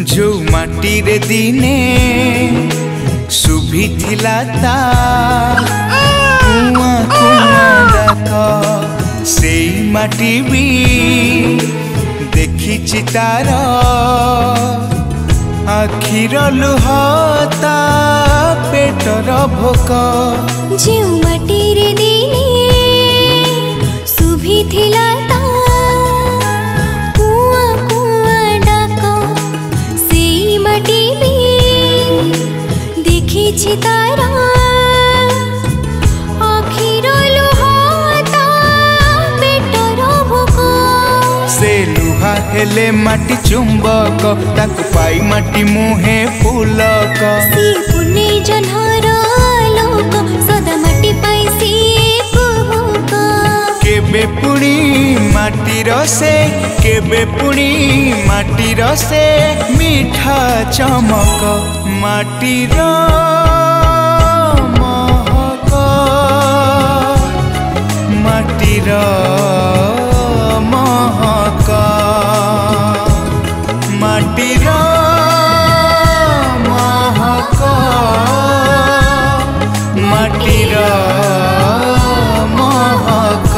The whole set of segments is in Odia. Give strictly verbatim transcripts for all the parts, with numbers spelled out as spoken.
ଯୋଉ ମାଟିରେ ଦିନେ ଶୁଭିଥିଲା ତା କୁଆଁ କୁଆଁ ଡାକ, ସେଇ ମାଟି ବି ଦେଖିଛି ତାର ଆଖିର ଲୁହ, ତା ପେଟର ଭୋକ। ଯେଉଁ ମାଟିରେ ଦିନେ ଶୁଭିଥିଲା ତା କୁଆଁ କୁଆଁ ଡାକ, ସେଇ ମାଟି ବି ଦେଖିଛି ତାର ଆଖିର ଲୁହ, ତା ପେଟର ଭୋକ। ସେ ଲୁହା ହେଲେ ମାଟି ଚୁମ୍ବକ, ତାକୁ ପାଇ ମାଟି ମୁହେଁ ପୁଲକ। ସିଏ ପୁନେଇ ଜହ୍ନର ଆଲୋକ, ସଦା ମାଟି ପାଇଁ ସିଏ କୁହୁକ। କେବେ ପୁଣି ମାଟିର ସେ, କେବେ ପୁଣି ମାଟିର ସେ ମିଠା ଚମକ, ମାଟିର ମହକ, ମାଟିର ମହକ, ମାଟିର ମହକ, ମାଟିର ମହକ।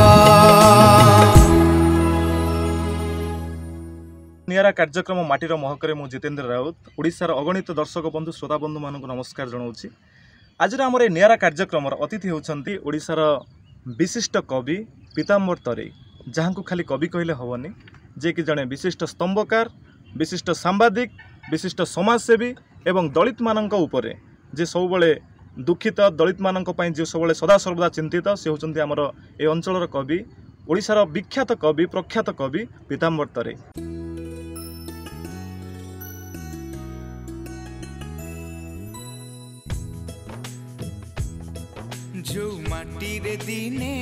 ନିଆରା କାର୍ଯ୍ୟକ୍ରମ ମାଟିର ମହକରେ ମୁଁ ଜିତେନ୍ଦ୍ର ରାଉତ ଓଡ଼ିଶାର ଅଗଣିତ ଦର୍ଶକ ବନ୍ଧୁ, ଶ୍ରୋତା ବନ୍ଧୁମାନଙ୍କୁ ନମସ୍କାର ଜଣାଉଛି। ଆଜିର ଆମର ଏ ନିଆରା କାର୍ଯ୍ୟକ୍ରମର ଅତିଥି ହେଉଛନ୍ତି ଓଡ଼ିଶାର ବିଶିଷ୍ଟ କବି ପୀତାମ୍ବର ତରେଇ, ଯାହାଙ୍କୁ ଖାଲି କବି କହିଲେ ହେବନି, ଯିଏକି ଜଣେ ବିଶିଷ୍ଟ ସ୍ତମ୍ଭକାର, ବିଶିଷ୍ଟ ସାମ୍ବାଦିକ, ବିଶିଷ୍ଟ ସମାଜସେବୀ ଏବଂ ଦଳିତମାନଙ୍କ ଉପରେ ଯେ ସବୁବେଳେ ଦୁଃଖିତ, ଦଳିତମାନଙ୍କ ପାଇଁ ଯିଏ ସବୁବେଳେ ସଦାସର୍ବଦା ଚିନ୍ତିତ, ସେ ହେଉଛନ୍ତି ଆମର ଏ ଅଞ୍ଚଳର କବି, ଓଡ଼ିଶାର ବିଖ୍ୟାତ କବି, ପ୍ରଖ୍ୟାତ କବି ପୀତାମ୍ବର ତରେଇ। ଯୋଉ ମାଟିରେ ଦିନେ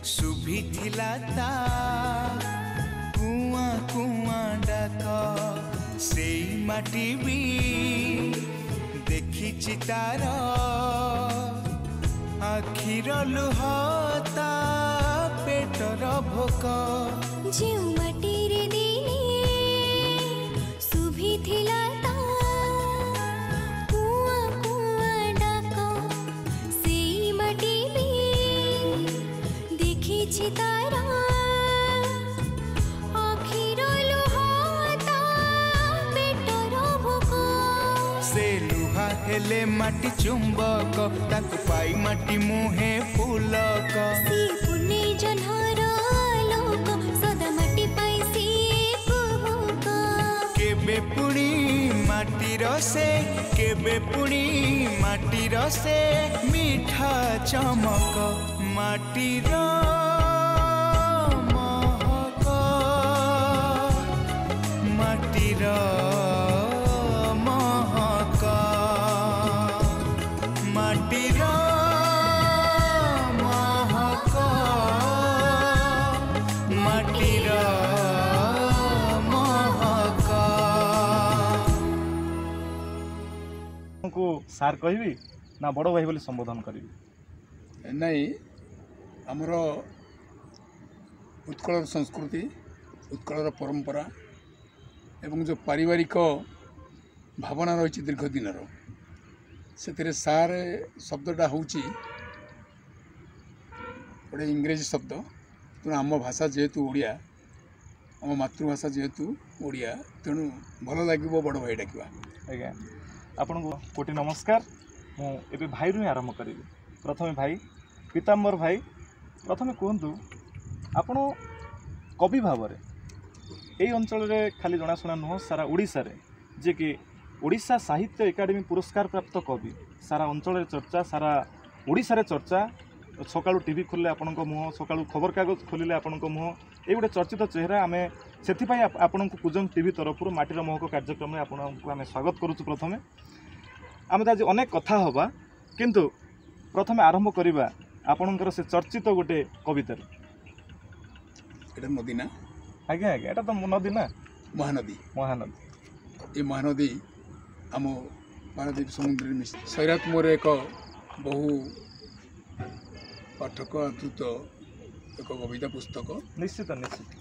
ଶୁଭିଥିଲା ତା କୁଆଁ କୁଆଁ ଡାକ, ସେଇ ମାଟି ବି ଦେଖିଛି ତାର ଆଖିର ଲୁହ, ତା ପେଟର ଭୋକ। ଯେଉଁ ମାଟିରେ ଦିନେ ଶୁଭିଥିଲା ତା କୁଆଁ କୁଆଁ ଡାକ, ସେଇ ମାଟି ବି ଦେଖିଛି ତାର ଆଖିର ଲୁହ, ତା ପେଟର ଭୋକ। ସେ ଲୁହା ହେଲେ ମାଟି ଚୁମ୍ବକ, ତାକୁ ପାଇ ମାଟି ମୁହେଁ ପୁଲକ। ସିଏ ପୁନେଇ ଜହ୍ନର ଆଲୋକ, ସଦା ମାଟି ପାଇଁ ସିଏ କୁହୁକ। କେବେ ପୁଣି ମାଟିର ସେ, କେବେ ପୁଣି ମାଟିର ସେ ମିଠା ଚମକ, ମାଟିର ମହକ, ମାଟିର ମହକ, ମାଟିର ମହକ, ମାଟିର ମହକ। ଆପଣଙ୍କୁ ସାର୍ କହିବି ନା ବଡ଼ ଭାଇ ବୋଲି ସମ୍ବୋଧନ କରିବି? ନାଇଁ, ଆମର ଉତ୍କଳର ସଂସ୍କୃତି, ଉତ୍କଳର ପରମ୍ପରା ଏବଂ ଯେଉଁ ପାରିବାରିକ ଭାବନା ରହିଛି ଦୀର୍ଘ ଦିନର, ସେଥିରେ ସାର୍ ଶବ୍ଦଟା ହେଉଛି ଗୋଟେ ଇଂରେଜୀ ଶବ୍ଦ। ତେଣୁ ଆମ ଭାଷା ଯେହେତୁ ଓଡ଼ିଆ, ଆମ ମାତୃଭାଷା ଯେହେତୁ ଓଡ଼ିଆ, ତେଣୁ ଭଲ ଲାଗିବ ବଡ଼ ଭାଇ ଡାକିବା। ଆଜ୍ଞା, ଆପଣଙ୍କୁ କୋଟି ନମସ୍କାର। ମୁଁ ଏବେ ଭାଇରୁ ହିଁ ଆରମ୍ଭ କରିବି। ପ୍ରଥମେ ଭାଇ ପୀତାମ୍ବର ଭାଇ, ପ୍ରଥମେ କୁହନ୍ତୁ, ଆପଣ କବି ଭାବରେ ଏଇ ଅଞ୍ଚଳରେ ଖାଲି ଜଣାଶୁଣା ନୁହଁ, ସାରା ଓଡ଼ିଶାରେ, ଯିଏକି ଓଡ଼ିଶା ସାହିତ୍ୟ ଏକାଡେମୀ ପୁରସ୍କାର ପ୍ରାପ୍ତ କବି, ସାରା ଅଞ୍ଚଳରେ ଚର୍ଚ୍ଚା, ସାରା ଓଡ଼ିଶାରେ ଚର୍ଚ୍ଚା। ସକାଳୁ ଟିଭି ଖୋଲିଲେ ଆପଣଙ୍କ ମୁହଁ, ସକାଳୁ ଖବରକାଗଜ ଖୋଲିଲେ ଆପଣଙ୍କ ମୁହଁ, ଏଇ ଗୋଟେ ଚର୍ଚ୍ଚିତ ଚେହେରା। ଆମେ ସେଥିପାଇଁ ଆପ- ଆପଣଙ୍କୁ କୁଜଙ୍ଗ ଟିଭି ତରଫରୁ ମାଟିର ମହକ କାର୍ଯ୍ୟକ୍ରମରେ ଆପଣଙ୍କୁ ଆମେ ସ୍ୱାଗତ କରୁଛୁ। ପ୍ରଥମେ ଆମେ ତ ଆଜି ଅନେକ କଥା ହେବା, କିନ୍ତୁ ପ୍ରଥମେ ଆରମ୍ଭ କରିବା ଆପଣଙ୍କର ସେ ଚର୍ଚ୍ଚିତ ଗୋଟେ କବିତାରୁ। ଏଇଟା ନଦୀ ନା? ଆଜ୍ଞା ଆଜ୍ଞା, ଏଇଟା ତ ନଦୀ ନା? ମହାନଦୀ। ମହାନଦୀ। ଏ ମହାନଦୀ ଆମ ପାରାଦ୍ୱୀପ ସମୁଦ୍ରରେ ମିଶି। ସୈରାତ ମୋର ଏକ ବହୁ ପାଠକ ଆଦୃତ ଏକ କବିତା ପୁସ୍ତକ। ନିଶ୍ଚିତ ନିଶ୍ଚିତ।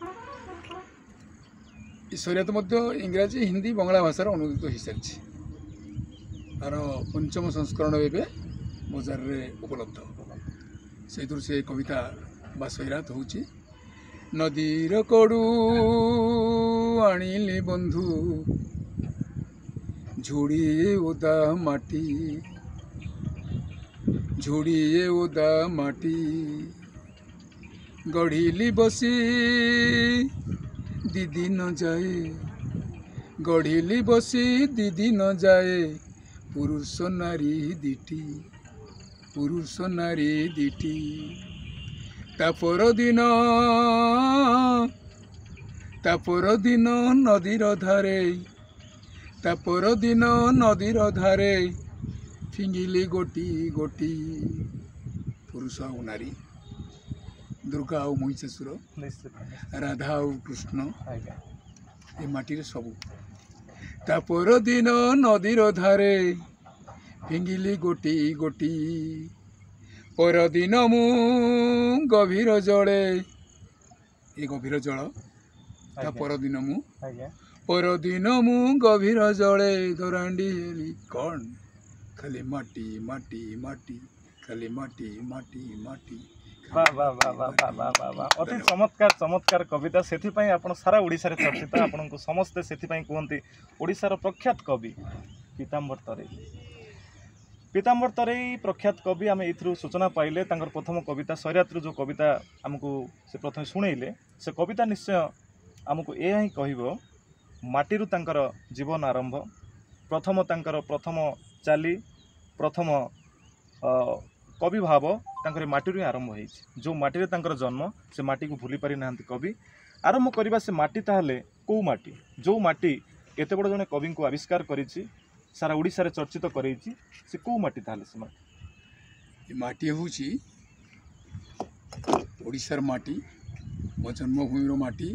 ଏ ସୈରାତ ମଧ୍ୟ ଇଂରାଜୀ, ହିନ୍ଦୀ, ବଙ୍ଗଳା ଭାଷାରେ ଅନୁଦିତ ହୋଇସାରିଛି। ତାର ପଞ୍ଚମ ସଂସ୍କରଣ ଏବେ ବଜାରରେ ଉପଲବ୍ଧ। ସେଇଥିରୁ ସେ କବିତା ବା ସୈରାତ ହେଉଛି, ନଦୀର କଡ଼ୁ ଆଣିଲି ବନ୍ଧୁ ଝୁଡ଼ିଏ ଓଦା ମାଟି, ଝୁଡ଼ିଏ ଓଦା ମାଟି, ଗଢ଼ିଲି ବସି ଦି ଦିନ ଯାଏ, ଗଢ଼ିଲି ବସି ଦି ଦିନ ଯାଏ, ପୁରୁଷ ନାରୀ ଦିଟି, ପୁରୁଷ ନାରୀ ଦିଟି। ତା ପରଦିନ, ତା ପରଦିନ ନଦୀର ଧାରେ, ତା ପରଦିନ ନଦୀର ଧାରେ ଫିଙ୍ଗିଲି ଗୋଟି ଗୋଟି। ପୁରୁଷ ଆଉ ନାରୀ, ଦୁର୍ଗା ଆଉ ମହିଷାସୁର, ନିଶ୍ଚିତ ରାଧା ଆଉ କୃଷ୍ଣ, ଆଜ୍ଞା ଏ ମାଟିରେ ସବୁ। ତା ପରଦିନ ନଦୀର ଧାରେ ଫିଙ୍ଗିଲି ଗୋଟି ଗୋଟି। ପରଦିନ ମୁଁ ଗଭୀର ଜଳେ, ଏ ଗଭୀର ଜଳ, ତା ଆଜ୍ଞା। ପରଦିନ ମୁଁ, ଆଜ୍ଞା ପରଦିନ ମୁଁ ଗଭୀର ଜଳେ ଦରାଣ୍ଡି ହେଲି କ'ଣ ଖାଲି ମାଟି ମାଟି ମାଟି, ଖାଲି ମାଟି ମାଟି ମାଟି। ବା ବା ବା ବା ବା ବା ବା ବା, ଅତି ଚମତ୍କାର ଚମତ୍କାର କବିତା। ସେଥିପାଇଁ ଆପଣ ସାରା ଓଡ଼ିଶାରେ ଚର୍ଚ୍ଚିତ, ଆପଣଙ୍କୁ ସମସ୍ତେ ସେଥିପାଇଁ କୁହନ୍ତି ଓଡ଼ିଶାର ପ୍ରଖ୍ୟାତ କବି ପୀତାମ୍ବର ତରେଇ। ପୀତାମ୍ବର ତରେଇ ପ୍ରଖ୍ୟାତ କବି, ଆମେ ଏଇଥିରୁ ସୂଚନା ପାଇଲେ। ତାଙ୍କର ପ୍ରଥମ କବିତା ସୈରାତରୁ ଯେଉଁ କବିତା ଆମକୁ ସେ ପ୍ରଥମେ ଶୁଣେଇଲେ, ସେ କବିତା ନିଶ୍ଚୟ ଆମକୁ ଏହା ହିଁ କହିବ, ମାଟିରୁ ତାଙ୍କର ଜୀବନ ଆରମ୍ଭ। ପ୍ରଥମ ତାଙ୍କର ପ୍ରଥମ ଚାଲି, ପ୍ରଥମ ଅ, କବି ଭାବ ତାଙ୍କର ଏ ମାଟିରୁ ହିଁ ଆରମ୍ଭ ହେଇଛି। ଯେଉଁ ମାଟିରେ ତାଙ୍କର ଜନ୍ମ, ସେ ମାଟିକୁ ଭୁଲି ପାରିନାହାନ୍ତି କବି। ଆରମ୍ଭ କରିବା ସେ ମାଟି, ତାହେଲେ କେଉଁ ମାଟି, ଯେଉଁ ମାଟି ଏତେ ବଡ଼ ଜଣେ କବିଙ୍କୁ ଆବିଷ୍କାର କରିଛି, ସାରା ଓଡ଼ିଶାରେ ଚର୍ଚ୍ଚିତ କରେଇଛି, ସେ କେଉଁ ମାଟି ତାହେଲେ ସେ ମାଟି? ଏ ମାଟି ହେଉଛି ଓଡ଼ିଶାର ମାଟି, ମୋ ଜନ୍ମଭୂମିର ମାଟି।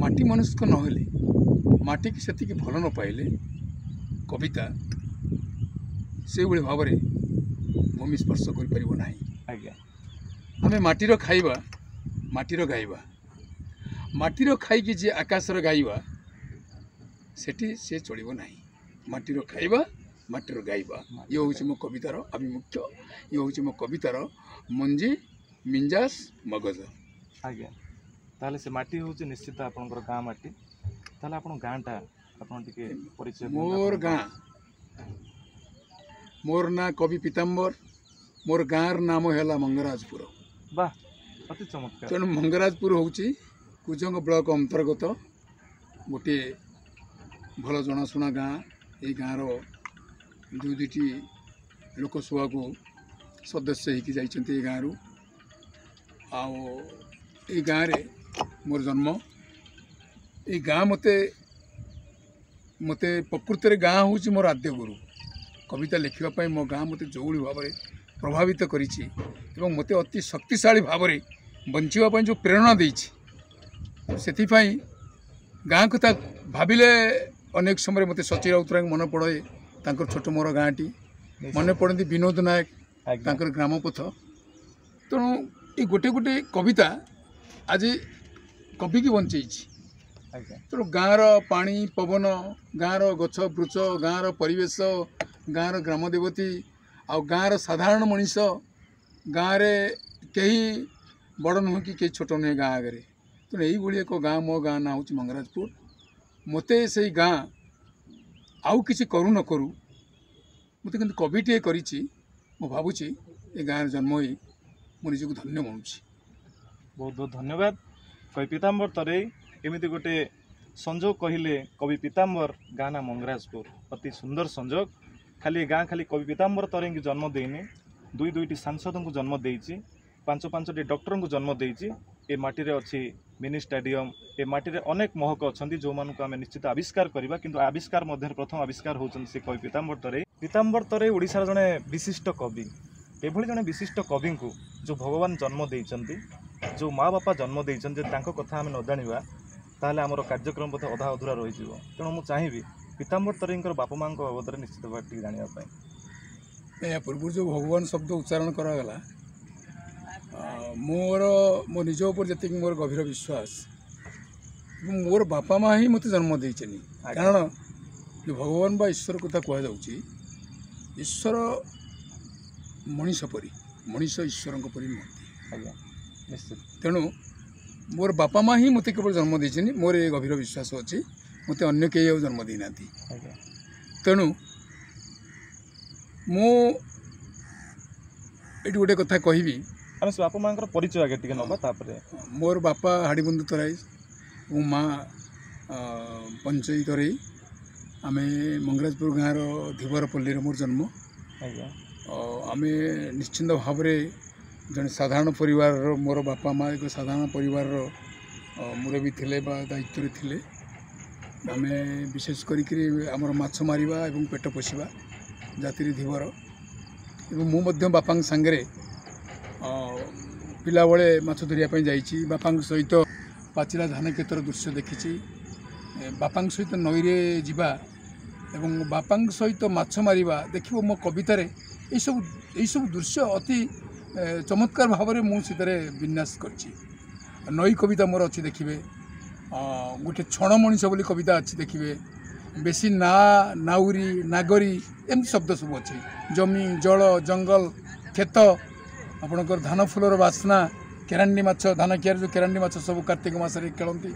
ମାଟି ମନସ୍କ ନହେଲେ, ମାଟିକି ସେତିକି ଭଲ ନ ପାଇଲେ କବିତା ସେଇଭଳି ଭାବରେ ଭୂମି ସ୍ପର୍ଶ କରିପାରିବ ନାହିଁ। ଆଜ୍ଞା ଆମେ ମାଟିର ଖାଇବା, ମାଟିର ଗାଇବା। ମାଟିର ଖାଇକି ଯିଏ ଆକାଶର ଗାଇବା, ସେଠି ସେ ଚଳିବ ନାହିଁ। ମାଟିର ଖାଇବା, ମାଟିର ଗାଇବା, ଇଏ ହେଉଛି ମୋ କବିତାର ଆଭିମୁଖ୍ୟ, ଇଏ ହେଉଛି ମୋ କବିତାର ମଞ୍ଜି, ମିଞ୍ଜାସ, ମଗଜ। ଆଜ୍ଞା, ତାହେଲେ ସେ ମାଟି ହେଉଛି ନିଶ୍ଚିତ ଆପଣଙ୍କର ଗାଁ ମାଟି। ତାହେଲେ ଆପଣ ଗାଁଟା ଆପଣ ଟିକେ ପରିଚୟ ଦିଅନ୍ତୁ ମୋର ଆପଣଙ୍କ ଗାଁ, ମୋର ନାଁ କବି ପୀତାମ୍ବର, ମୋର ଗାଁର ନାମ ହେଲା ମଙ୍ଗରାଜପୁର। ବାহ, ଅତି ଚମତ୍କାର। ତେଣୁ ମଙ୍ଗରାଜପୁର ହେଉଛି କୁଜଙ୍ଗ ବ୍ଲକ ଅନ୍ତର୍ଗତ ଗୋଟିଏ ଭଲ ଜଣାଶୁଣା ଗାଁ। ଏଇ ଗାଁର ଦୁଇ ଦୁଇଟି ଲୋକସଭାକୁ ସଦସ୍ୟ ହେଇକି ଯାଇଛନ୍ତି ଏଇ ଗାଁରୁ। ଆଉ ଏଇ ଗାଁରେ ମୋର ଜନ୍ମ। ଏଇ ଗାଁ ମୋତେ ମୋତେ ପ୍ରକୃତରେ ଗାଁ ହେଉଛି ମୋର ଆଦ୍ୟ ଗୁରୁ। କବିତା ଲେଖିବା ପାଇଁ ମୋ ଗାଁ ମୋତେ ଯେଉଁଭଳି ଭାବରେ ପ୍ରଭାବିତ କରିଛି ଏବଂ ମୋତେ ଅତି ଶକ୍ତିଶାଳୀ ଭାବରେ ବଞ୍ଚିବା ପାଇଁ ଯେଉଁ ପ୍ରେରଣା ଦେଇଛି, ସେଥିପାଇଁ ଗାଁ କଥା ଭାବିଲେ ଅନେକ ସମୟରେ ମୋତେ ସଚି ରାଉତରାୟଙ୍କୁ ମନେ ପଡ଼େ, ତାଙ୍କର ଛୋଟ ମୋର ଗାଁଟି ମନେ ପଡ଼ନ୍ତି, ବିନୋଦ ନାୟକ ଆଜ୍ଞା ତାଙ୍କର ଗ୍ରାମପଥ। ତେଣୁ ଏଇ ଗୋଟେ ଗୋଟେ କବିତା ଆଜି କବିକି ବଞ୍ଚେଇଛି। ଆଜ୍ଞା ତେଣୁ ଗାଁର ପାଣି ପବନ, ଗାଁର ଗଛ ବୃଛ, ଗାଁର ପରିବେଶ, ଗାଁର ଗ୍ରାମ ଦେବତୀ ଆଉ ଗାଁର ସାଧାରଣ ମଣିଷ, ଗାଁରେ କେହି ବଡ଼ ନୁହେଁ କି କେହି ଛୋଟ ନୁହେଁ ଗାଁ ଆଗରେ। ତେଣୁ ଏଇଭଳି ଏକ ଗାଁ, ମୋ ଗାଁ ନାଁ ହେଉଛି ମଙ୍ଗରାଜପୁର। ମୋତେ ସେଇ ଗାଁ ଆଉ କିଛି କରୁ ନ କରୁ ମୋତେ କିନ୍ତୁ କବିଟିଏ କରିଛି। ମୁଁ ଭାବୁଛି ଏ ଗାଁରେ ଜନ୍ମ ହୋଇ ମୁଁ ନିଜକୁ ଧନ୍ୟ ମଣୁଛି। ବହୁତ ବହୁତ ଧନ୍ୟବାଦ କବି ପୀତାମ୍ବର ତରେଇ। ଏମିତି ଗୋଟେ ସଂଯୋଗ କହିଲେ କବି ପୀତାମ୍ବର, ଗାଁ ନା ମଙ୍ଗରାଜପୁର, ଅତି ସୁନ୍ଦର ସଂଯୋଗ। ଖାଲି ଏ ଗାଁ ଖାଲି କବି ପୀତାମ୍ବର ତରେଇଙ୍କୁ ଜନ୍ମ ଦେଇନି, ଦୁଇ ଦୁଇଟି ସାଂସଦଙ୍କୁ ଜନ୍ମ ଦେଇଛି, ପାଞ୍ଚ ପାଞ୍ଚଟି ଡକ୍ଟରଙ୍କୁ ଜନ୍ମ ଦେଇଛି। ଏ ମାଟିରେ ଅଛି ମିନି ଷ୍ଟାଡିୟମ, ଏ ମାଟିରେ ଅନେକ ମହକ ଅଛନ୍ତି ଯେଉଁମାନଙ୍କୁ ଆମେ ନିଶ୍ଚିତ ଆବିଷ୍କାର କରିବା, କିନ୍ତୁ ଆବିଷ୍କାର ମଧ୍ୟରେ ପ୍ରଥମ ଆବିଷ୍କାର ହେଉଛନ୍ତି ସେ କବି ପୀତାମ୍ବର ତରେଇ। ପୀତାମ୍ବର ତରେଇ ଓଡ଼ିଶାର ଜଣେ ବିଶିଷ୍ଟ କବି। ଏଭଳି ଜଣେ ବିଶିଷ୍ଟ କବିଙ୍କୁ ଯେଉଁ ଭଗବାନ ଜନ୍ମ ଦେଇଛନ୍ତି, ଯେଉଁ ମା ବାପା ଜନ୍ମ ଦେଇଛନ୍ତି, ଯଦି ତାଙ୍କ କଥା ଆମେ ନ ଜାଣିବା ତାହେଲେ ଆମର କାର୍ଯ୍ୟକ୍ରମ ବୋଧେ ଅଧା ଅଧୁରା ରହିଯିବ। ତେଣୁ ମୁଁ ଚାହିଁବି ପୀତାମ୍ବର ତରେଇଙ୍କର ବାପା ମାଆଙ୍କ ବାବଦରେ ନିଶ୍ଚିତ ଭାବେ ଟିକେ ଜାଣିବା ପାଇଁ। ଏହା ପୂର୍ବରୁ ଯେଉଁ ଭଗବାନ ଶବ୍ଦ ଉଚ୍ଚାରଣ କରାଗଲା, ଆ, ମୋର ମୋ ନିଜ ଉପରେ ଯେତିକି ମୋର ଗଭୀର ବିଶ୍ୱାସ, ଏବଂ ମୋର ବାପା ମା ହିଁ ମୋତେ ଜନ୍ମ ଦେଇଛନ୍ତି। କାରଣ ଯେଉଁ ଭଗବାନ ବା ଈଶ୍ୱର କଥା କୁହାଯାଉଛି, ଈଶ୍ୱର ମଣିଷ ପରି, ମଣିଷ ଈଶ୍ୱରଙ୍କ ପରି ନୁହନ୍ତି। ଆଜ୍ଞା ନିଶ୍ଚିତ। ତେଣୁ ମୋର ବାପା ମା ହିଁ ମୋତେ କେବଳ ଜନ୍ମ ଦେଇଛନ୍ତି, ମୋର ଏ ଗଭୀର ବିଶ୍ୱାସ ଅଛି, ମୋତେ ଅନ୍ୟ କେହି ଆଉ ଜନ୍ମ ଦେଇନାହାନ୍ତି। ଆଜ୍ଞା। ତେଣୁ ମୁଁ ଏଠି ଗୋଟେ କଥା କହିବି। ଆମେ ସେ ବାପା ମାଆଙ୍କର ପରିଚୟ ଆଗେ ଟିକେ ନେବା, ତାପରେ। ମୋର ବାପା ହାଡ଼ିବନ୍ଧୁ ତରାଇ ଏବଂ ମା ପଞ୍ଚେଇ ତରେଇ। ଆମେ ମଙ୍ଗରାଜପୁର ଗାଁର ଧୀବରପଲ୍ଲୀରେ ମୋର ଜନ୍ମ। ଆଜ୍ଞା। ଆମେ ନିଶ୍ଚିନ୍ତ ଭାବରେ ଜଣେ ସାଧାରଣ ପରିବାରର, ମୋର ବାପା ମା ଏକ ସାଧାରଣ ପରିବାରର ମୁରବୀ ଥିଲେ ବା ଦାୟିତ୍ୱରେ ଥିଲେ। ଆମେ ବିଶେଷ କରିକିରି ଆମର ମାଛ ମାରିବା ଏବଂ ପେଟ ପୋଷିବା ଜାତିରେ ଧୀବର। ଏବଂ ମୁଁ ମଧ୍ୟ ବାପାଙ୍କ ସାଙ୍ଗରେ ପିଲାବେଳେ ମାଛ ଧରିବା ପାଇଁ ଯାଇଛି। ବାପାଙ୍କ ସହିତ ପାଚିଲା ଧାନ କ୍ଷେତର ଦୃଶ୍ୟ ଦେଖିଛି। ବାପାଙ୍କ ସହିତ ନଈରେ ଯିବା ଏବଂ ବାପାଙ୍କ ସହିତ ମାଛ ମାରିବା, ଦେଖିବ ମୋ କବିତାରେ ଏଇସବୁ ଏଇସବୁ ଦୃଶ୍ୟ ଅତି ଚମତ୍କାର ଭାବରେ ମୁଁ ସେଥିରେ ବିନ୍ୟାସ କରିଛି। ନଈ କବିତା ମୋର ଅଛି ଦେଖିବେ, ଗୋଟେ ଛଣ ମଣିଷ ବୋଲି କବିତା ଅଛି ଦେଖିବେ, ବେଶୀ ନା ନାଉରୀ ନାଗରୀ ଏମିତି ଶବ୍ଦ ସବୁ ଅଛି। ଜମି, ଜଳ, ଜଙ୍ଗଲ, କ୍ଷେତ, ଆପଣଙ୍କର ଧାନ ଫୁଲର ବାସ୍ନା, କେରାଣ୍ଡି ମାଛ, ଧାନ କିଆରେ ଯେଉଁ କେରାଣ୍ଡି ମାଛ ସବୁ କାର୍ତ୍ତିକ ମାସରେ ଖେଳନ୍ତି,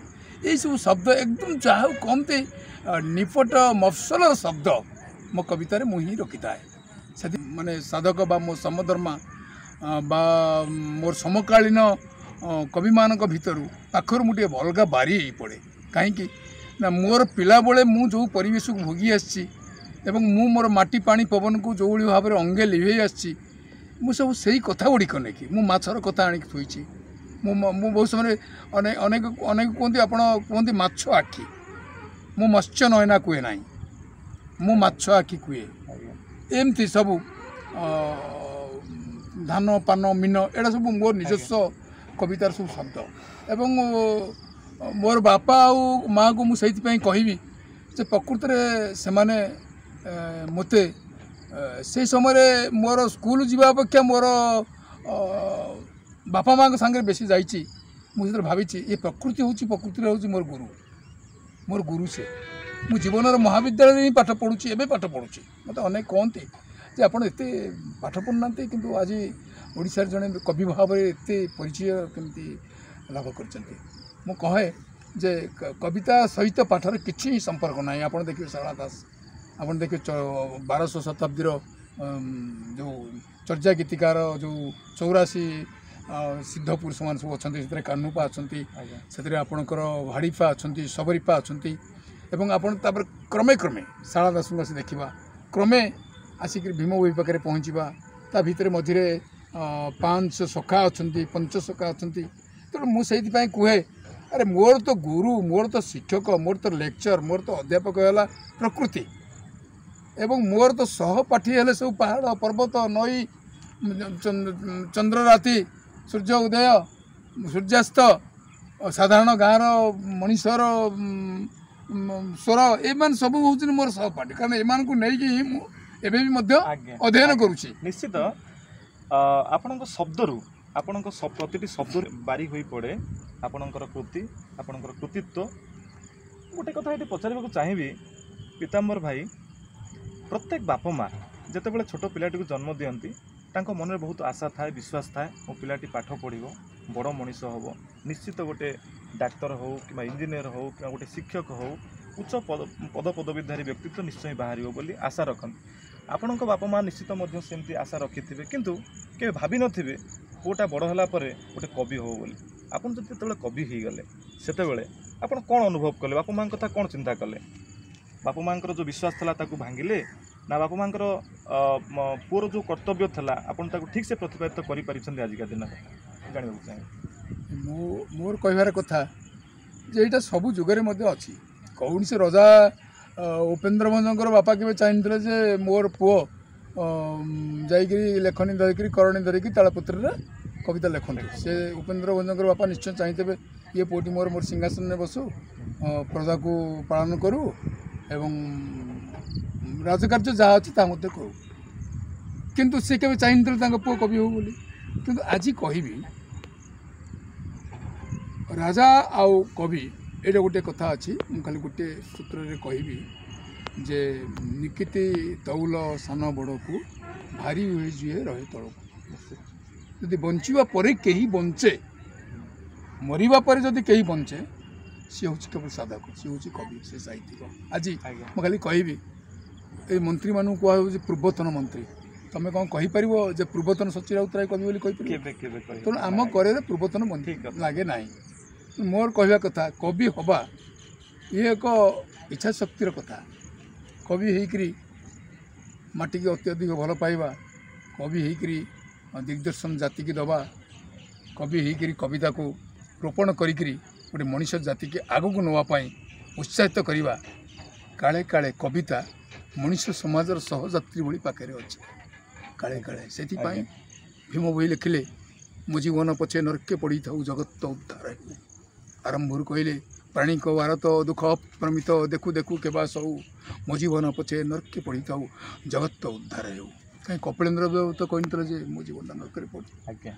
ଏଇସବୁ ଶବ୍ଦ ଏକଦମ ଯାହା ହଉ କହନ୍ତି ନିପଟ ମଫସଲର ଶବ୍ଦ ମୋ କବିତାରେ ମୁଁ ହିଁ ରଖିଥାଏ। ସେଥି ମାନେ ସାଧକ ବା ମୋ ସମଧର୍ମା ବା ମୋର ସମକାଳୀନ କବିମାନଙ୍କ ଭିତରୁ ପାଖରୁ ମୁଁ ଟିକେ ଅଲଗା ବାରି ହେଇପଡ଼େ। କାହିଁକି ନା ମୋର ପିଲାବେଳେ ମୁଁ ଯେଉଁ ପରିବେଶକୁ ଭୋଗି ଆସିଛି ଏବଂ ମୁଁ ମୋର ମାଟି ପାଣି ପବନକୁ ଯେଉଁଭଳି ଭାବରେ ଅଙ୍ଗେ ଲିଭେଇ ଆସିଛି, ମୁଁ ସବୁ ସେଇ କଥା ଗୁଡ଼ିକ ନେଇକି ମୁଁ ମାଛର କଥା ଆଣିକି ଥୋଇଛି। ମୁଁ ମୁଁ ବହୁତ ସମୟରେ ଅନେକ ଅନେକ ଅନେକ କୁହନ୍ତି, ଆପଣ କୁହନ୍ତି ମାଛ ଆଖି, ମୁଁ ମତ୍ସ୍ୟ ନୟନା କୁହେ ନାହିଁ, ମୁଁ ମାଛ ଆଖି କୁହେ। ଏମିତି ସବୁ ଧାନ ପାନ ମୀନ ଏଇଟା ସବୁ ମୋର ନିଜସ୍ୱ କବିତାର ସବୁ ଶବ୍ଦ। ଏବଂ ମୋର ବାପା ଆଉ ମାଆକୁ ମୁଁ ସେଇଥିପାଇଁ କହିବି ଯେ ପ୍ରକୃତରେ ସେମାନେ ମୋତେ ସେଇ ସମୟରେ ମୋର ସ୍କୁଲ ଯିବା ଅପେକ୍ଷା ମୋର ବାପା ମାଆଙ୍କ ସାଙ୍ଗରେ ବେଶୀ ଯାଇଛି। ମୁଁ ସେଥିରେ ଭାବିଛି ଏ ପ୍ରକୃତି ହେଉଛି, ପ୍ରକୃତିରେ ହେଉଛି ମୋର ଗୁରୁ, ମୋର ଗୁରୁ ସେ। ମୁଁ ଜୀବନର ମହାବିଦ୍ୟାଳୟରେ ହିଁ ପାଠ ପଢ଼ୁଛି, ଏବେ ପାଠ ପଢ଼ୁଛି। ମୋତେ ଅନେକ କହନ୍ତି ଯେ ଆପଣ ଏତେ ପାଠ ପଢ଼ୁନାହାନ୍ତି, କିନ୍ତୁ ଆଜି ଓଡ଼ିଶାରେ ଜଣେ କବି ଭାବରେ ଏତେ ପରିଚୟ କେମିତି ଲାଭ କରିଛନ୍ତି। ମୁଁ କହେ ଯେ କବିତା ସହିତ ପାଠର କିଛି ସମ୍ପର୍କ ନାହିଁ। ଆପଣ ଦେଖିବେ ସାରଳା ଦାସ, ଆପଣ ଦେଖିବେ ବାରଶହ ଶତାବ୍ଦୀର ଯେଉଁ ଚର୍ଯା ଗୀତିକାର ଯେଉଁ ଚଉରାଶୀ ସିଦ୍ଧ ପୁରୁଷମାନେ ସବୁ ଅଛନ୍ତି, ସେଥିରେ କାହ୍ନୁପା ଅଛନ୍ତି, ସେଥିରେ ଆପଣଙ୍କର ଭାଡ଼ିପା ଅଛନ୍ତି, ସବରିପା ଅଛନ୍ତି। ଏବଂ ଆପଣ ତାପରେ କ୍ରମେ କ୍ରମେ ସାରଳା ଦାସଙ୍କୁ ଆସି ଦେଖିବା, କ୍ରମେ ଆସିକରି ଭୀମ ଭୋଇ ପାଖରେ ପହଞ୍ଚିବା, ତା ଭିତରେ ମଝିରେ ପାଞ୍ଚ ସଖା ଅଛନ୍ତି, ପଞ୍ଚ ସଖା ଅଛନ୍ତି। ତେଣୁ ମୁଁ ସେଇଥିପାଇଁ କୁହେ, ଆରେ ମୋର ତ ଗୁରୁ, ମୋର ତ ଶିକ୍ଷକ, ମୋର ତ ଲେକ୍ଚର, ମୋର ତ ଅଧ୍ୟାପକ ହେଲା ପ୍ରକୃତି, ଏବଂ ମୋର ତ ସହପାଠୀ ହେଲେ ସବୁ ପାହାଡ଼ ପର୍ବତ ନଈ, ଚନ୍ଦ୍ରରାତି, ସୂର୍ଯ୍ୟ ଉଦୟ, ସୂର୍ଯ୍ୟାସ୍ତ, ସାଧାରଣ ଗାଁର ମଣିଷର ସ୍ୱର, ଏମାନେ ସବୁ ହେଉଛନ୍ତି ମୋର ସହପାଠୀ। କାରଣ ଏମାନଙ୍କୁ ନେଇକି ହିଁ ମୁଁ ଏବେ ବି ମଧ୍ୟ ଅଧ୍ୟୟନ କରୁଛି। ନିଶ୍ଚିତ ଆପଣଙ୍କ ଶବ୍ଦରୁ, ଆପଣଙ୍କ ପ୍ରତିଟି ଶବ୍ଦରୁ ବାରି ହୋଇପଡ଼େ ଆପଣଙ୍କର କୃତି, ଆପଣଙ୍କର କୃତିତ୍ୱ। ଗୋଟେ କଥା ଏଠି ପଚାରିବାକୁ ଚାହିଁବି ପୀତାମ୍ବର ଭାଇ, ପ୍ରତ୍ୟେକ ବାପା ମା ଯେତେବେଳେ ଛୋଟ ପିଲାଟିକୁ ଜନ୍ମ ଦିଅନ୍ତି ତାଙ୍କ ମନରେ ବହୁତ ଆଶା ଥାଏ, ବିଶ୍ୱାସ ଥାଏ, ମୋ ପିଲାଟି ପାଠ ପଢ଼ିବ, ବଡ଼ ମଣିଷ ହେବ, ନିଶ୍ଚିତ ଗୋଟେ ଡାକ୍ତର ହେଉ କିମ୍ବା ଇଞ୍ଜିନିୟର ହେଉ କିମ୍ବା ଗୋଟେ ଶିକ୍ଷକ ହେଉ, ଉଚ୍ଚ ପଦ ପଦପଦବୀଧାରୀ ବ୍ୟକ୍ତିତ୍ୱ ନିଶ୍ଚୟ ବାହାରିବ ବୋଲି ଆଶା ରଖନ୍ତି। ଆପଣଙ୍କ ବାପା ମା ନିଶ୍ଚିତ ମଧ୍ୟ ସେମିତି ଆଶା ରଖିଥିବେ, କିନ୍ତୁ କେବେ ଭାବିନଥିବେ ପୁଅଟା ବଡ଼ ହେଲା ପରେ ଗୋଟେ କବି ହେବ ବୋଲି। ଆପଣ ଯଦି ଯେତେବେଳେ କବି ହେଇଗଲେ ସେତେବେଳେ ଆପଣ କ'ଣ ଅନୁଭବ କଲେ? ବାପା ମାଆଙ୍କ କଥା କ'ଣ ଚିନ୍ତା କଲେ? ବାପା ମାଆଙ୍କର ଯେଉଁ ବିଶ୍ୱାସ ଥିଲା ତାକୁ ଭାଙ୍ଗିଲେ, ନା ବାପା ମାଆଙ୍କର ପୁଅର ଯେଉଁ କର୍ତ୍ତବ୍ୟ ଥିଲା ଆପଣ ତାକୁ ଠିକ୍ସେ ପ୍ରତିପାଦିତ କରିପାରିଛନ୍ତି ଆଜିକା ଦିନରେ? ଜାଣିବାକୁ ଚାହିଁବି। ମୁଁ ମୋର କହିବାର କଥା ଯେ ଏଇଟା ସବୁ ଯୁଗରେ ମଧ୍ୟ ଅଛି। କୌଣସି ରଜା ଉପେନ୍ଦ୍ର ଭଞ୍ଜଙ୍କର ବାପା କେବେ ଚାହିଁଥିଲେ ଯେ ମୋର ପୁଅ ଯାଇକରି ଲେଖନୀ ଧରିକିରି କରଣୀ ଧରିକି ତାଳପତ୍ରରେ କବିତା ଲେଖନ୍ତୁ। ସେ ଉପେନ୍ଦ୍ର ଭଞ୍ଜଙ୍କର ବାପା ନିଶ୍ଚୟ ଚାହିଁଥିବେ ଇଏ ପୁଅଟି ମୋର ମୋର ସିଂହାସନରେ ବସୁ, ପ୍ରଜାକୁ ପାଳନ କରୁ ଏବଂ ରାଜକାର୍ଯ୍ୟ ଯାହା ଅଛି ତାହା ମଧ୍ୟ କରୁ। କିନ୍ତୁ ସେ କେବେ ଚାହିଁନଥିଲେ ତାଙ୍କ ପୁଅ କବି ହେଉ ବୋଲି। କିନ୍ତୁ ଆଜି କହିବି, ରାଜା ଆଉ କବି ଏଇଟା ଗୋଟେ କଥା ଅଛି ମୁଁ ଖାଲି ଗୋଟିଏ ସୂତ୍ରରେ କହିବି ଯେ ନିକିତି ତଉଲ ସାନ ବଡ଼କୁ ଭାରି ହୁଏ ଯିଏ ରହେ ତଳକୁ ଯଦି ବଞ୍ଚିବା ପରେ କେହି ବଞ୍ଚେ ମରିବା ପରେ ଯଦି କେହି ବଞ୍ଚେ ସିଏ ହେଉଛି କେବଳ ସାଧକ ସିଏ ହେଉଛି କବି ସେ ସାହିତ୍ୟିକ ଆଜି ମୁଁ ଖାଲି କହିବି ଏଇ ମନ୍ତ୍ରୀମାନଙ୍କୁ କୁହାଯାଉଛି ପୂର୍ବତନ ମନ୍ତ୍ରୀ ତମେ କ'ଣ କହିପାରିବ ଯେ ପୂର୍ବତନ ସଚି ରାଉତରାୟ କବି ବୋଲି କହିପାରିବ ତେଣୁ ଆମ କରେରେ ପୂର୍ବତନ ମନ୍ତ୍ରୀ ଲାଗେ ନାହିଁ ମୋର କହିବା କଥା କବି ହେବା ଇଏ ଏକ ଇଚ୍ଛା ଶକ୍ତିର କଥା କବି ହେଇକରି ମାଟିକି ଅତ୍ୟଧିକ ଭଲ ପାଇବା କବି ହେଇକରି ଦିଗ୍ଦର୍ଶନ ଜାତିକି ଦେବା କବି ହେଇକରି କବିତାକୁ ରୋପଣ କରିକିରି ଗୋଟେ ମଣିଷ ଜାତିକି ଆଗକୁ ନେବା ପାଇଁ ଉତ୍ସାହିତ କରିବା କାଳେ କାଳେ କବିତା ମଣିଷ ସମାଜର ସହଯାତ୍ରୀ ଭଳି ପାଖରେ ଅଛି କାଳେ କାଳେ ସେଥିପାଇଁ ଭୀମ ବହି ଲେଖିଲେ ମୋ ଜୀବନ ପଛେ ନର୍କେ ପଡ଼ିଥାଉ ଜଗତ ଉଦ୍ଧାର ହେଉ ଆରମ୍ଭରୁ କହିଲେ ପ୍ରାଣୀଙ୍କ ଭାରତ ଦୁଃଖ ଅପ୍ରମିତ ଦେଖୁ ଦେଖୁ କେବା ସଉ ମୋ ଜୀବନ ପଛେ ନର୍କେ ପଡ଼ିଥାଉ ଜଗତ ଉଦ୍ଧାର ହେଉ କାହିଁ କପିଳେନ୍ଦ୍ର ଦେବ ତ କହିନଥିଲେ ଯେ ମୋ ଜୀବନଟା ନର୍କରେ ପଡ଼ୁ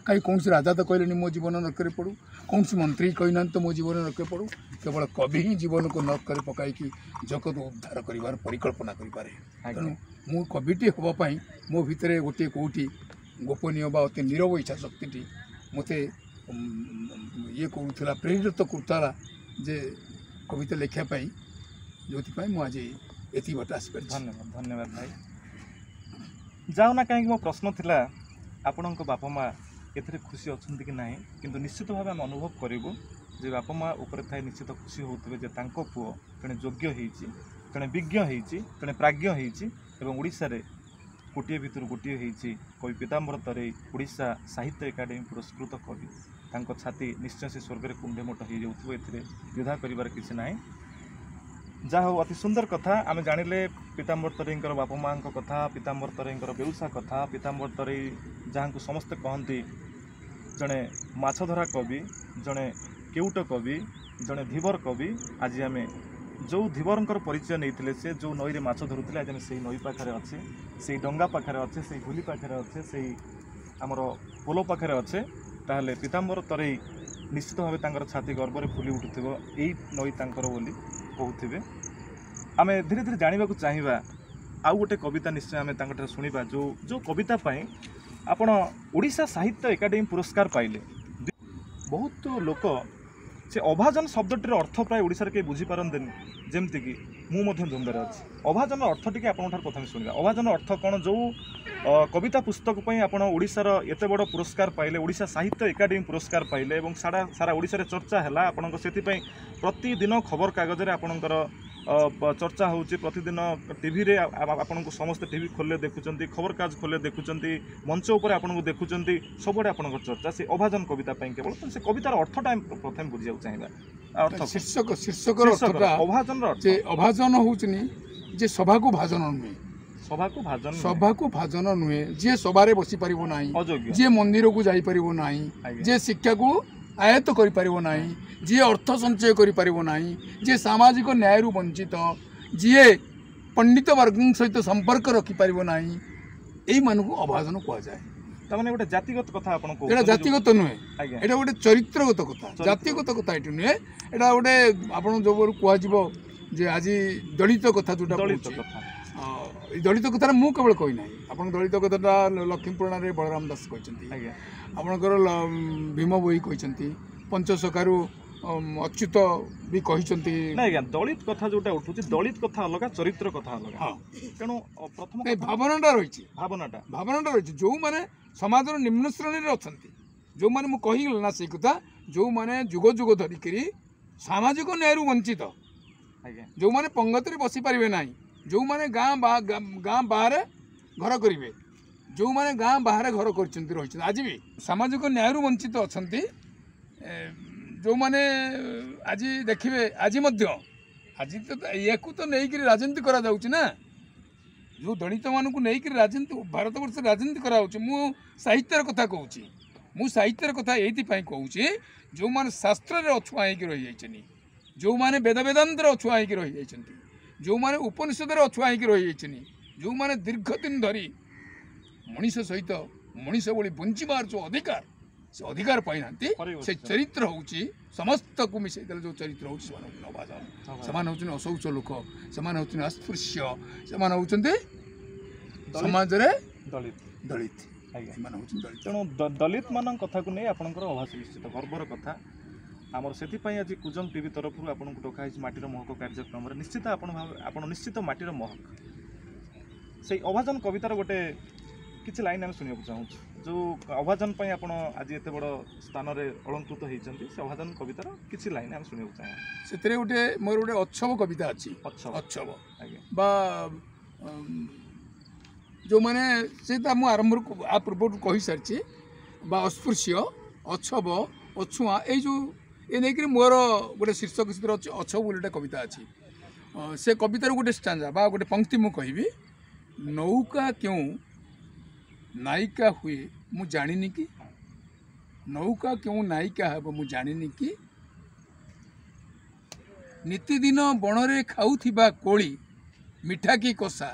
କାହିଁ କୌଣସି ରାଜା ତ କହିଲେନି ମୋ ଜୀବନ ନର୍କରେ ପଡ଼ୁ କୌଣସି ମନ୍ତ୍ରୀ କହିନାହାନ୍ତି ତ ମୋ ଜୀବନ ନର୍କରେ ପଡ଼ୁ କେବଳ କବି ହିଁ ଜୀବନକୁ ନର୍କରେ ପକାଇକି ଜଗତ ଉଦ୍ଧାର କରିବାର ପରିକଳ୍ପନା କରିପାରେ ତେଣୁ ମୁଁ କବିଟି ହେବା ପାଇଁ ମୋ ଭିତରେ ଗୋଟିଏ କେଉଁଠି ଗୋପନୀୟ ବା ଅତି ନିରବ ଇଚ୍ଛା ଶକ୍ତିଟି ମୋତେ ଇଏ କରୁଥିଲା ପ୍ରେରିତ କରୁଥିଲା ଯେ କବିତା ଲେଖିବା ପାଇଁ ଯେଉଁଥିପାଇଁ ମୁଁ ଆଜି ଏତିକି ବାଟ ଆସିପାରିଛି ଧନ୍ୟବାଦ ଧନ୍ୟବାଦ ଭାଇ ଯାଉ ନା କାହିଁକି ମୋ ପ୍ରଶ୍ନ ଥିଲା ଆପଣଙ୍କ ବାପା ମା' ଏଥିରେ ଖୁସି ଅଛନ୍ତି କି ନାହିଁ କିନ୍ତୁ ନିଶ୍ଚିତ ଭାବେ ଆମେ ଅନୁଭବ କରିବୁ ଯେ ବାପା ମା' ଉପରେ ଥାଇ ନିଶ୍ଚିତ ଖୁସି ହେଉଥିବେ ଯେ ତାଙ୍କ ପୁଅ ଜଣେ ଯୋଗ୍ୟ ହେଇଛି ଜଣେ ବିଜ୍ଞ ହେଇଛି ଜଣେ ପ୍ରାଜ୍ଞ ହେଇଛି ଏବଂ ଓଡ଼ିଶାରେ ଗୋଟିଏ ଭିତରୁ ଗୋଟିଏ ହେଇଛି କବି ପୀତାମ୍ବର ତରେଇ ଓଡ଼ିଶା ସାହିତ୍ୟ ଏକାଡେମୀ ପୁରସ୍କୃତ କବି ତାଙ୍କ ଛାତି ନିଶ୍ଚୟ ସେ ସ୍ୱର୍ଗରେ କୁଣ୍ଢେ ମୋଟ ହେଇଯାଉଥିବ ଏଥିରେ ଦ୍ୱିଧା କରିବାର କିଛି ନାହିଁ ଯାହା ହଉ ଅତି ସୁନ୍ଦର କଥା ଆମେ ଜାଣିଲେ ପୀତାମ୍ବର ତରେଇଙ୍କର ବାପା ମାଆଙ୍କ କଥା ପୀତାମ୍ବର ତରେଇଙ୍କର ବେଉସା କଥା ପୀତାମ୍ବର ତରେଇ ଯାହାଙ୍କୁ ସମସ୍ତେ କହନ୍ତି ଜଣେ ମାଛ ଧରା କବି ଜଣେ କେଉଟ କବି ଜଣେ ଧୀବର କବି ଆଜି ଆମେ ଯେଉଁ ଧୀବରଙ୍କର ପରିଚୟ ନେଇଥିଲେ ସେ ଯେଉଁ ନଈରେ ମାଛ ଧରୁଥିଲେ ଆଜି ଆମେ ସେଇ ନଈ ପାଖରେ ଅଛେ ସେଇ ଡଙ୍ଗା ପାଖରେ ଅଛେ ସେଇ ହୁଲି ପାଖରେ ଅଛେ ସେଇ ଆମର ପୋଲ ପାଖରେ ଅଛେ ତାହେଲେ ପୀତାମ୍ବର ତରେଇ ନିଶ୍ଚିତ ଭାବେ ତାଙ୍କର ଛାତି ଗର୍ବରେ ଫୁଲି ଉଠୁଥିବ ଏଇ ନଈ ତାଙ୍କର ବୋଲି କହୁଥିବେ ଆମେ ଧୀରେ ଧୀରେ ଜାଣିବାକୁ ଚାହିଁବା ଆଉ ଗୋଟେ କବିତା ନିଶ୍ଚୟ ଆମେ ତାଙ୍କଠାରୁ ଶୁଣିବା ଯେଉଁ ଯେଉଁ କବିତା ପାଇଁ ଆପଣ ଓଡ଼ିଶା ସାହିତ୍ୟ ଏକାଡେମୀ ପୁରସ୍କାର ପାଇଲେ ବହୁତ ଲୋକ ସେ ଅଭାଜନ ଶବ୍ଦଟିର ଅର୍ଥ ପ୍ରାୟ ଓଡ଼ିଶାରେ କେହି ବୁଝିପାରନ୍ତିନି ଯେମିତିକି ମୁଁ ମଧ୍ୟ ଦ୍ୱନ୍ଦ୍ୱରେ ଅଛି ଅଭାଜନର ଅର୍ଥ ଟିକେ ଆପଣଙ୍କ ଠାରୁ ପ୍ରଥମେ ଶୁଣିବା ଅଭାଜନର ଅର୍ଥ କ'ଣ ଯେଉଁ କବିତା ପୁସ୍ତକ ପାଇଁ ଆପଣ ଓଡ଼ିଶାର ଏତେ ବଡ଼ ପୁରସ୍କାର ପାଇଲେ ଓଡ଼ିଶା ସାହିତ୍ୟ ଏକାଡେମୀ ପୁରସ୍କାର ପାଇଲେ ଏବଂ ସାରା ସାରା ଓଡ଼ିଶାରେ ଚର୍ଚ୍ଚା ହେଲା ଆପଣଙ୍କ ସେଥିପାଇଁ ପ୍ରତିଦିନ ଖବରକାଗଜରେ ଆପଣଙ୍କର ଚର୍ଚ୍ଚା ହେଉଛି ପ୍ରତିଦିନ ଟିଭିରେ ଆପଣଙ୍କୁ ସମସ୍ତେ ଟିଭି ଖୋଲିଲେ ଦେଖୁଛନ୍ତି ଖବରକାଗଜ ଖୋଲିଲେ ଦେଖୁଛନ୍ତି ମଞ୍ଚ ଉପରେ ଆପଣଙ୍କୁ ଦେଖୁଛନ୍ତି ସବୁଆଡ଼େ ଆପଣଙ୍କର ଚର୍ଚ୍ଚା ସେ ଅଭାଜନ କବିତା ପାଇଁ କେବଳ ସେ କବିତାର ଅର୍ଥଟା ଆମେ ପ୍ରଥମେ ବୁଝିବାକୁ ଚାହିଁବା ଅର୍ଥ ଶୀର୍ଷକ ଶୀର୍ଷକର ଅର୍ଥଟା ଅଭାଜନର ଅର୍ଥ ଯେ ଅଭାଜନ ହେଉଛି ଯେ ସଭାକୁ ଭାଜନ ନୁହେଁ ସଭାକୁ ଭାଜନ ସଭାକୁ ଭାଜନ ନୁହେଁ ଯିଏ ସଭାରେ ବସିପାରିବ ନାହିଁ ଯିଏ ମନ୍ଦିରକୁ ଯାଇପାରିବ ନାହିଁ ଯିଏ ଶିକ୍ଷାକୁ ଆୟତ୍ତ କରିପାରିବ ନାହିଁ ଯିଏ ଅର୍ଥ ସଞ୍ଚୟ କରିପାରିବ ନାହିଁ ଯିଏ ସାମାଜିକ ନ୍ୟାୟରୁ ବଞ୍ଚିତ ଯିଏ ପଣ୍ଡିତ ବର୍ଗଙ୍କ ସହିତ ସମ୍ପର୍କ ରଖିପାରିବ ନାହିଁ ଏଇମାନଙ୍କୁ ଅଭାଜନ କୁହାଯାଏ ତାମାନେ ଗୋଟେ ଜାତିଗତ କଥା ଆପଣ ଏଇଟା ଜାତିଗତ ନୁହେଁ ଏଇଟା ଗୋଟେ ଚରିତ୍ରଗତ କଥା ଜାତିଗତ କଥା ଏଠି ନୁହେଁ ଏଇଟା ଗୋଟେ ଆପଣ ଯେଉଁ କୁହାଯିବ ଯେ ଆଜି ଦଳିତ କଥା ଯେଉଁଟା ଦଳିତ କଥା ଏଇ ଦଳିତ କଥାଟା ମୁଁ କେବଳ କହିନାହିଁ ଆପଣ ଦଳିତ କଥାଟା ଲକ୍ଷ୍ମୀପୁରାଣରେ ବଳରାମ ଦାସ କହିଛନ୍ତି ଆପଣଙ୍କର ଭୀମ ବୋଇ କହିଛନ୍ତି ପଞ୍ଚସଖାରୁ ଅଚ୍ୟୁତ ବି କହିଛନ୍ତି ନା ଆଜ୍ଞା ଦଳିତ କଥା ଯୋଉଟା ଉଠୁଛି ଦଳିତ କଥା ଅଲଗା ଚରିତ୍ର କଥା ଅଲଗା ହଁ ତେଣୁ ପ୍ରଥମ ଭାବନାଟା ରହିଛି ଭାବନାଟା ଭାବନାଟା ରହିଛି ଯେଉଁମାନେ ସମାଜର ନିମ୍ନ ଶ୍ରେଣୀରେ ଅଛନ୍ତି ଯେଉଁମାନେ ମୁଁ କହିଗଲି ନା ସେଇ କଥା ଯେଉଁମାନେ ଯୁଗ ଯୁଗ ଧରିକିରି ସାମାଜିକ ନ୍ୟାୟରୁ ବଞ୍ଚିତ ଆଜ୍ଞା ଯେଉଁମାନେ ପଙ୍ଗତିରେ ବସିପାରିବେ ନାହିଁ ଯେଉଁମାନେ ଗାଁ ଗାଁ ବାହାରେ ଘର କରିବେ ଯେଉଁମାନେ ଗାଁ ବାହାରେ ଘର କରିଛନ୍ତି ରହିଛନ୍ତି ଆଜି ବି ସାମାଜିକ ନ୍ୟାୟରୁ ବଞ୍ଚିତ ଅଛନ୍ତି ଯେଉଁମାନେ ଆଜି ଦେଖିବେ ଆଜି ମଧ୍ୟ ଆଜି ତ ୟାକୁ ତ ନେଇକରି ରାଜନୀତି କରାଯାଉଛି ନା ଯେଉଁ ଦଳିତମାନଙ୍କୁ ନେଇକରି ରାଜନୀତି ଭାରତବର୍ଷରେ ରାଜନୀତି କରାଯାଉଛି ମୁଁ ସାହିତ୍ୟର କଥା କହୁଛି ମୁଁ ସାହିତ୍ୟର କଥା ଏଇଥିପାଇଁ କହୁଛି ଯେଉଁମାନେ ଶାସ୍ତ୍ରରେ ଅଛୁଆଁ ହେଇକି ରହିଯାଇଛନ୍ତି ଯେଉଁମାନେ ବେଦ ବେଦାନ୍ତରେ ଅଛୁଆଁ ହେଇକି ରହିଯାଇଛନ୍ତି ଯେଉଁମାନେ ଉପନିଷଦରେ ଅଛୁଆଁ ହେଇକି ରହିଯାଇଛନ୍ତି ଯେଉଁମାନେ ଦୀର୍ଘ ଦିନ ଧରି ମଣିଷ ସହିତ ମଣିଷ ଭଳି ବଞ୍ଚିବାର ଯେଉଁ ଅଧିକାର ସେ ଅଧିକାର ପାଇନାହାନ୍ତି। ହରେଇ ସେ ବସିଛନ୍ତି। ଚରିତ୍ର ହେଉଛି ସମସ୍ତକୁ ମିଶାଇ ଦେଲେ ଯେଉଁ ଚରିତ୍ର ହେଉଛି, ସେମାନେ ହେଉଛନ୍ତି ଅଭାଜନ, ସେମାନେ ହେଉଛନ୍ତି ଅଶୌଚ ଲୋକ, ସେମାନେ ହେଉଛନ୍ତି ଅସ୍ପୃଶ୍ୟ, ସେମାନେ ହେଉଛନ୍ତି ସମାଜରେ ଦଳିତ। ଦଳିତ। ଆଜ୍ଞା। ଏମାନେ ହେଉଛନ୍ତି ଦଳିତ। ତେଣୁ ଦ- ଦଳିତ ମାନଙ୍କ କଥାକୁ ନେଇ ଆପଣଙ୍କର ଅଭାସ ନିଶ୍ଚିତ ଗର୍ବର କଥା ଆମର। ସେଥିପାଇଁ ଆଜି କୁଜଙ୍ଗ ଟିଭି ତରଫରୁ ଆପଣଙ୍କୁ ଡକା ହେଇଛି ମାଟିର ମହକ କାର୍ଯ୍ୟକ୍ରମରେ। ନିଶ୍ଚିତ ଆପଣ ଭାବେ ଆପଣ ନିଶ୍ଚିତ ମାଟିର ମହକ। ସେଇ ଅଭାଜନ କବିତାର ଗୋଟେ କିଛି ଲାଇନ୍ ଆମେ ଶୁଣିବାକୁ ଚାହୁଁଛୁ। ଯେଉଁ ଅଭାଜନ ପାଇଁ ଆପଣ ଆଜି ଏତେ ବଡ଼ ସ୍ଥାନରେ ଅଳଙ୍କୃତ ହେଇଛନ୍ତି, ସେ ଅଭାଜନ କବିତାର କିଛି ଲାଇନ୍ ଆମେ ଶୁଣିବାକୁ ଚାହୁଁ। ସେଥିରେ ଗୋଟେ ମୋର ଗୋଟେ ଅଛବ କବିତା ଅଛି। ଅଛବ। ଅଛବ। ଆଜ୍ଞା। ବା ଅମ୍, ଯେଉଁମାନେ ସେ ତ ମୁଁ ଆରମ୍ଭରୁ ଆ ପୂର୍ବରୁ କହିସାରିଛି, ବା ଅସ୍ପୃଶ୍ୟ, ଅଛବ, ଅଛୁଆଁ, ଏଇ ଯେଉଁ ଏ ନେଇକରି ମୋର ଗୋଟେ ଶୀର୍ଷକ ସେଥିରେ ଅଛି, ଅଛବ ବୋଲି ଗୋଟେ କବିତା ଅଛି। ଅ, ସେ କବିତାର ଗୋଟେ ଷ୍ଟାଞ୍ଜା ବା ଗୋଟେ ପଙ୍କ୍ତି ମୁଁ କହିବି। ନୌକା କେଉଁ ନାୟିକା ହୁଏ ମୁଁ ଜାଣିନି କି, ନୌକା କେଉଁ ନାୟିକା ହେବ ମୁଁ ଜାଣିନି କି, ନିତିଦିନ ବଣରେ ଖାଉଥିବା କୋଳି ମିଠା କି କଷା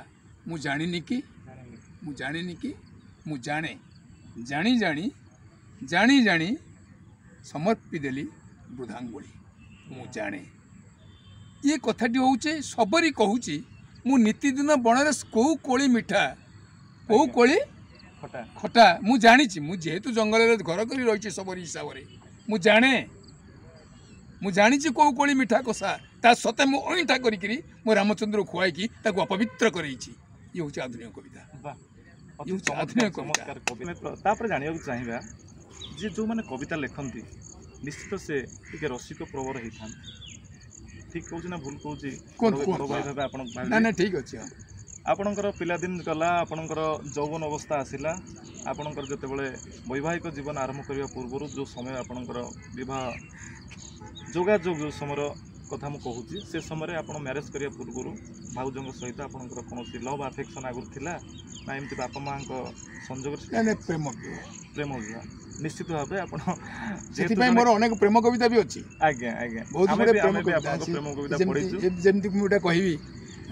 ମୁଁ ଜାଣିନି କି, ଜାଣିନି। ମୁଁ ଜାଣିନି କି, ମୁଁ ଜାଣେ ଜାଣି ଜାଣି ଜାଣି ଜାଣି ସମର୍ପି ଦେଲି ବୃଦ୍ଧାଙ୍ଗୁଳି। ମୁଁ ଜାଣେ। ଇଏ କଥାଟି ହେଉଛି ସବରି କହୁଛି, ମୁଁ ନିତିଦିନ ବଣରେ କେଉଁ କୋଳି ମିଠା, କେଉଁ ଆଜ୍ଞା। କୋଳି ଖଟା, ଖଟା ମୁଁ ଜାଣିଛି। ମୁଁ ଯେହେତୁ ଜଙ୍ଗଲରେ ଘର କରି ରହିଛି ସବରି ହିସାବରେ, ମୁଁ ଜାଣେ, ମୁଁ ଜାଣିଛି କେଉଁ କୋଳି ମିଠା କଷା। ତା ସତେ ମୁଁ ଅଇଁଠା କରିକିରି ମୁଁ ରାମଚନ୍ଦ୍ରକୁ ଖୁଆଇକି ତାକୁ ଅପବିତ୍ର କରେଇଛି। ଇଏ ହେଉଛି ଆଧୁନିକ କବିତା। ବାহ, ଅତି ଇଏ ହେଉଛି ଚମତ୍କାର, ଆଧୁନିକ କବିତା। ଚମତ୍କାର କବି। ଆମେ ପ୍ର- ତାପରେ ଜାଣିବାକୁ ଚାହିଁବା ଯେ ଯେଉଁମାନେ କବିତା ଲେଖନ୍ତି, ନିଶ୍ଚିତ ସେ ଟିକେ ରସିକ ପ୍ରବର ହେଇଥାନ୍ତି। ଠିକ୍ କହୁଛି ନା ଭୁଲ କହୁଛି? କୁହନ୍ତୁ, ବଡ଼ କୁହନ୍ତୁ। ଭାଇ ଭାବେ ଆପଣ ନା ଭାବିବେ। ନା, ଠିକ୍ ଅଛି, ହଁ। ଆପଣଙ୍କର ପିଲାଦିନ ଗଲା, ଆପଣଙ୍କର ଯୌବନ ଅବସ୍ଥା ଆସିଲା। ଆପଣଙ୍କର ଯେତେବେଳେ ବୈବାହିକ ଜୀବନ ଆରମ୍ଭ କରିବା ପୂର୍ବରୁ ଯେଉଁ ସମୟ, ଆପଣଙ୍କର ବିବାହ ଯୋଗାଯୋଗ ଯେଉଁ ସମୟର କଥା ମୁଁ କହୁଛି, ସେ ସମୟରେ ଆପଣ ମ୍ୟାରେଜ୍ କରିବା ପୂର୍ବରୁ ଭାଉଜଙ୍କ ସହିତ ଆପଣଙ୍କର କୌଣସି ଲଭ୍ ଆଫେକ୍ସନ୍ ଆଗରୁ ଥିଲା ନା ଏମିତି ବାପା ମାଆଙ୍କ ସଂଯୋଗରେ? ନାଇଁ ନାଇଁ, ପ୍ରେମ ବିବାହ। ପ୍ରେମ ବିବାହ। ନିଶ୍ଚିତ ଭାବେ ଆପଣ ଯେହେତୁ ସେଥିପାଇଁ ଜଣେ ମୋର ଅନେକ ପ୍ରେମ କବିତା ବି ଅଛି। ଆଜ୍ଞା ଆଜ୍ଞା ବହୁତ ଆମେ ଗୁଡ଼େ ବି ପ୍ରେମ ଆମେ ବି କବିତା ଆପଣଙ୍କ ଅଛି। ପ୍ରେମ କବିତା ଯେମିତି ପଢ଼ିଛୁ। ଯେମିତି ମୁଁ ଗୋଟେ କହିବି,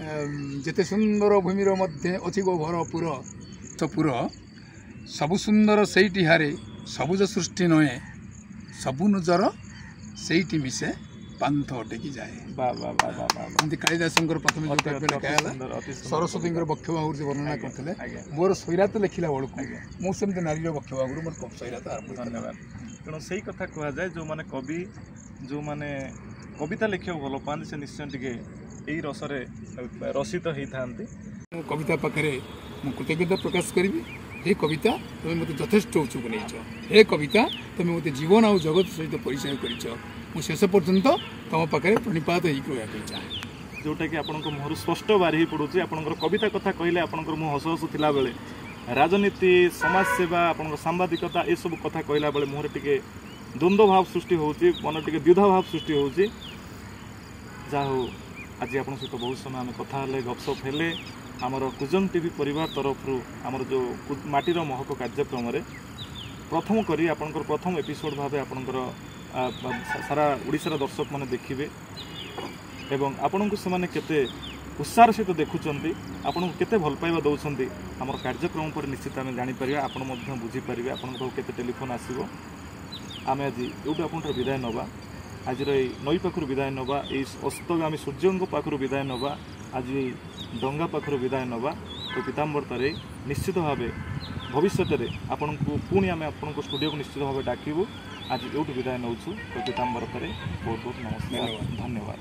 ଅମ୍, ଯେତେ ସୁନ୍ଦର ଭୂମିର ମଧ୍ୟେ ଅଛି ଗୋ ଭରପୁର ତ ପୁର, ସବୁ ସୁନ୍ଦର ସେଇଠି ହାରେ ସବୁଜ ସୃଷ୍ଟି ନୁହେଁ, ସବୁ ନଜର ସେଇଠି ମିଶେ ପାନ୍ଥ ଅଟକି ଯାଏ। ବା ବା ବା ବା ବା ବା। ଏମିତି କାଳିଦାସଙ୍କର ପ୍ରଥମେ ଯେଉଁ ଅତି କାବ୍ୟ ଅତି ଲେଖା ଅତି ହେଲା, ସୁନ୍ଦର, ଅତି ସୁନ୍ଦର ସରସ୍ୱତୀଙ୍କର କବିତା। ବକ୍ଷ ବାହୁରୁ ସେ ବର୍ଣ୍ଣନା ଆଜ୍ଞା, କରିଥିଲେ। ଆଜ୍ଞା। ମୋର ସୈରାତ ଲେଖିଲା ବେଳକୁ ଆଜ୍ଞା। ମୁଁ ସେମିତି ନାରୀର ବକ୍ଷ ବାହୁରୁ ମୋର ସୈରାତ ଆରମ୍ଭ ହେଇଥିଲା। ଧନ୍ୟବାଦ। ତେଣୁ ସେଇ କଥା କୁହାଯାଏ, ଯେଉଁମାନେ କବି, ଯେଉଁମାନେ କବିତା ଲେଖିବାକୁ ଭଲ ପାଆନ୍ତି, ସେ ନିଶ୍ଚୟ ଟିକେ ଏଇ ରସରେ ରସିତ ହେଇଥାନ୍ତି। ମୁଁ କବିତା ପାଖରେ ମୁଁ କୃତଜ୍ଞତା ପ୍ରକାଶ କରିବି। ହେ କବିତା, ତୁମେ ମୋତେ ଯଥେଷ୍ଟ ଉଚ୍ଚକୁ ନେଇଛ। ହେ କବିତା, ତୁମେ ମୋତେ ଜୀବନ ଆଉ ଜଗତ ସହିତ ପରିଚୟ କରିଛ। ମୁଁ ଶେଷ ପର୍ଯ୍ୟନ୍ତ ତୁମ ପାଖରେ ପ୍ରଣିପାତ ହେଇକି ରହିବା ପାଇଁ ଚାହେଁ। ଯେଉଁଟାକି ଆପଣଙ୍କ ମୁହଁରୁ ସ୍ପଷ୍ଟ ବାରି ହେଇ ପଡ଼ୁଛି। ଆପଣଙ୍କର କବିତା କଥା କହିଲେ ଆପଣଙ୍କର ମୁହଁ ହସ ହସ ଥିଲାବେଳେ, ରାଜନୀତି, ସମାଜସେବା, ଆପଣଙ୍କ ସାମ୍ବାଦିକତା, ଏସବୁ କଥା କହିଲା ବେଳେ ମୁହଁରେ ଟିକେ ଦ୍ୱନ୍ଦ୍ୱ ଭାବ ସୃଷ୍ଟି ହେଉଛି, ମନରେ ଟିକେ ଦ୍ୱିଧା ଭାବ ସୃଷ୍ଟି ହେଉଛି। ଯାହା ହଉ, ଆଜି ଆପଣଙ୍କ ସହିତ ବହୁତ ସମୟ ଆମେ କଥା ହେଲେ, ଗପସପ ହେଲେ। ଆମର କୁଜଙ୍ଗ ଟିଭି ପରିବାର ତରଫରୁ ଆମର ଯେଉଁ କୁ- ମାଟିର ମହକ କାର୍ଯ୍ୟକ୍ରମରେ ପ୍ରଥମ କରି ଆପଣଙ୍କର ପ୍ରଥମ ଏପିସୋଡ଼ ଭାବେ ଆପଣଙ୍କର ଆ, ବା- ସାରା ଓଡ଼ିଶାର ଦର୍ଶକମାନେ ଦେଖିବେ ଏବଂ ଆପଣଙ୍କୁ ସେମାନେ କେତେ ଉତ୍ସାହର ସହିତ ଦେଖୁଛନ୍ତି, ଆପଣଙ୍କୁ କେତେ ଭଲ ପାଇବା ଦେଉଛନ୍ତି, ଆମର କାର୍ଯ୍ୟକ୍ରମ ପରେ ନିଶ୍ଚିତ ଆମେ ଜାଣିପାରିବା। ଆପଣ ମଧ୍ୟ ବୁଝିପାରିବେ ଆପଣଙ୍କ ପାଖକୁ କେତେ ଟେଲିଫୋନ୍ ଆସିବ। ଆମେ ଆଜି ଏଇଠୁ ଆପଣଙ୍କଠାରୁ ବିଦାୟ ନେବା। ଆଜିର ଏଇ ନଈ ପାଖରୁ ବିଦାୟ ନେବା, ଏଇ ଅସ୍ତଗାମୀ ସୂର୍ଯ୍ୟଙ୍କ ପାଖରୁ ବିଦାୟ ନେବା, ଆଜି ଏଇ ଡଙ୍ଗା ପାଖରୁ ବିଦାୟ ନେବା। ତ ପୀତାମ୍ବର ତାରେଇ, ନିଶ୍ଚିତ ଭାବେ ଭବିଷ୍ୟତରେ ଆପଣଙ୍କୁ ପୁଣି ଆମେ ଆପଣଙ୍କ ଷ୍ଟୁଡ଼ିଓକୁ ନିଶ୍ଚିତ ଭାବେ ଡାକିବୁ। ଆଜି ଏଇଠୁ ବିଦାୟ ନେଉଛୁ। ତ ପୀତାମ୍ବର ତାରେଇ, ବହୁତ ବହୁତ ନମସ୍କାର। ଧନ୍ୟବାଦ। ଧନ୍ୟବାଦ।